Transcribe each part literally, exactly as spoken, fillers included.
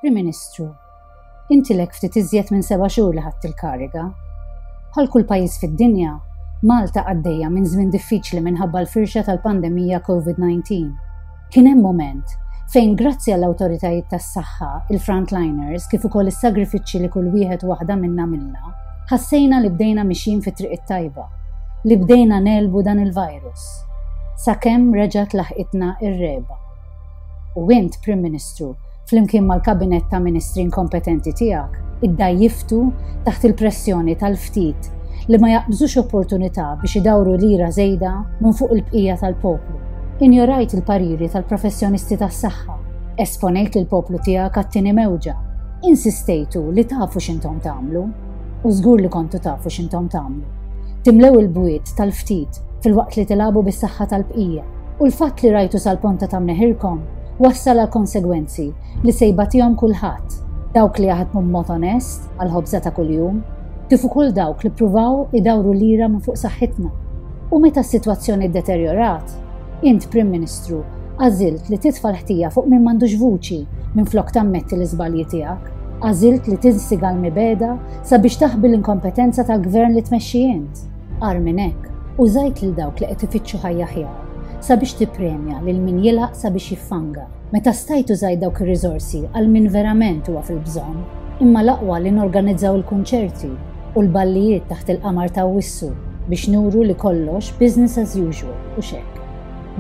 Prim Ministru, inti ilek ftit iżjed minn seba' xhur li ħadt il-kariga. Bħal kull pajjiż fid-dinja, Malta għaddejja minn żmien diffiċli minħabba l-firxa tal-pandemija COVID diciannove. Kien hemm mument fejn, grazzi għall-awtoritajiet tas-saħħa, il-frontliners, kif ukoll is-sagrifiċċji li kull wieħed u waħda minna għamilna, ħassejna li bdejna mixjin fit-triq it-tajba, li bdejna negħlbu dan il-virus. Sakemm reġgħet laħqitna ir-regħba. U int, Prim Ministru, flimkien mal-kabinet ta' ministri inkompetenti tiegħek, iddgħajjiftu taħt il-pressjoni tal-ftit li ma jaqbżux opportunità biex idawru lira żejda minn fuq il-bqija tal-poplu. Injorajt il-pariri tal-professjonisti tas-saħħa, esponejt il-poplu tiegħek għat-tieni mewġa. Insistejtu li tafu x'intom tagħmlu, u żgur li kontu tafu x'intom tagħmlu. Timlew il-bwiet tal-ftit filwaqt li tilagħbu bis-saħħa tal-bqija. U l-fatt li rajtu sal-ponta ta' mneħirkom wassal għal konsegwenzi li se jbatihom kulħadd, dawk li jaħdmu b'mod onest għal ħobża ta' kuljum, kif ukoll dawk li pruvaw idawru lira minn fuq saħħitna. U meta s-sitwazzjoni deterjorat, int, Prim Ministru, għażilt li titfa' l-ħtija fuq min m'għandux vuċi minn flok tammetti l-iżbalji tiegħek. Għażilt li tinstiga l-mibegħda sabiex taħbi l-inkompetenza tal-gvern li tmexxi int. Agħar minn hekk, użajt lil dawk li qed ifittxu ħajja aħjar sabiex tippremja lil min jilgħaq sabiex jiffanga. Meta stajt użajt dawk ir-riżorsi għal min verament huwa fil-bżonn, imma l-aqwa li norganizzaw il-kunċerti u l-ballijiet taħt il-qamar ta' Awwissu biex nuru li kollox business as usual u xek.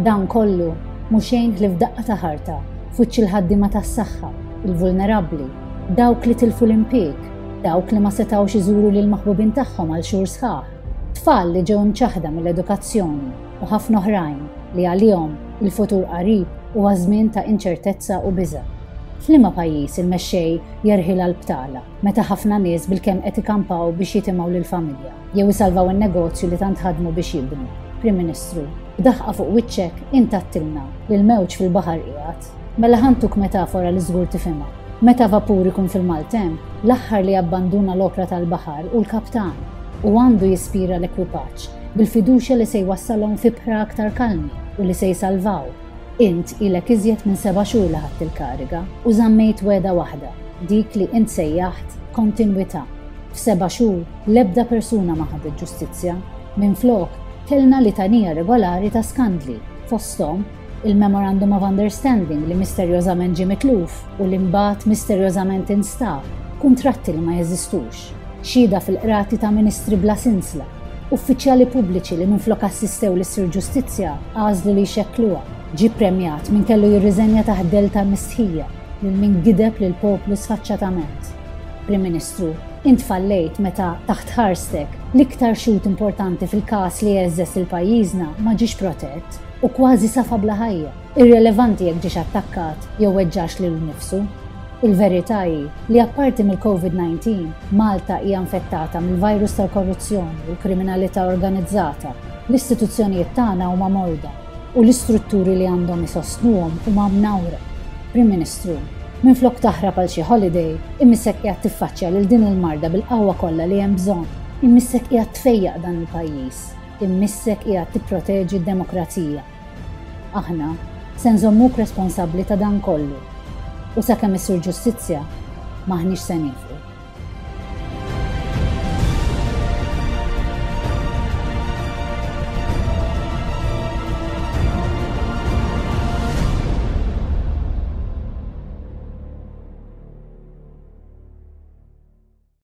Dan kollu mhu xejn ħlief daqqa ta' ħarta f'wiċċ il-ħaddiema tas-saħħa, il-vulnerabbli, dawk li tilfu l-impjieg, dawk li ma setawx iżuru lil maħbubin tagħhom għal xhur sħaħ, tfal li ġew imċaħda mill-edukazzjoni u ħafna oħrajn li għalihom il-futur qarib huwa żmien ta' inċertezza u biża'. F'liema pajjiż il-mexxej jerħilha l-btala meta ħafna nies bilkemm qed ikampaw biex jitimgħu lill-familja jew isalvaw in-negozju li tant ħadmu biex jibnu? Prim Ministru, b'daħqa fuq wiċċek int għedtilna li l-mewġ fil-baħar qiegħed. Mela ħa ntuk metafora li żgur tifhimha. Meta vapur ikun fil-maltemp, l-aħħar li abbanduna l-opra tal-baħar hu l-kaptan u għandu jispira l-ekwipaġġ bil-fiduċja li se jwassalhom f'ibħra aktar kalmi u li se jsalvaw. Int ilek iżjed minn seba' xhur li ħadt il-kariga u żammejt wegħda waħda, dik li int sejjaħt kontinwità. F'seba' xhur l-ebda persuna ma ħadet ġustizzja. Minflok, kellna litanija regolari ta' skandli, fosthom il-Memorandum of Understanding li misterjożament ġie mitluf u li mbagħad misterjożament instab, kuntratti li ma jeżistux, xhieda fil-qrati ta' ministri bla sinsla, uffiċjali pubbliċi li minflok assistew li ssir ġustizzja għażlu li jxekkluha. Ġie premjat min kellu jirriżenja taħt dell ta' mistħija lil min gideb lil poplu sfaċċatament. Prim Ministru, int fallejt meta taħt ħarstek l-iktar xhud importanti fil-każ li heżżeż lil pajjiżna ma ġiex protett u kważi safa bla ħajja, irrelevanti jekk ġiex attakkat jew weġġax lil nifsu. Il-verità hi li apparti mill-COVID diciannove, Malta hija infettata mill-virus tal-korruzzjoni u l-kriminalità organizzata. L-istituzzjonijiet tagħna huma morda u l-istrutturi li għandhom isostnuhom huma mnawra. Prim Ministru, minflok taħrab għal xi holiday, imissek qiegħed tiffaċċja lil din il-marda bil-qawwa kollha li hemm bżonn. Imissek qiegħed tfejjaq dan il-pajjiż. Imissek qiegħed tipproteġi d-demokrazija. Aħna se nżommuk responsabbli ta' dan kollu. U sakemm issir ġustizzja, m'aħniex se nieqfu.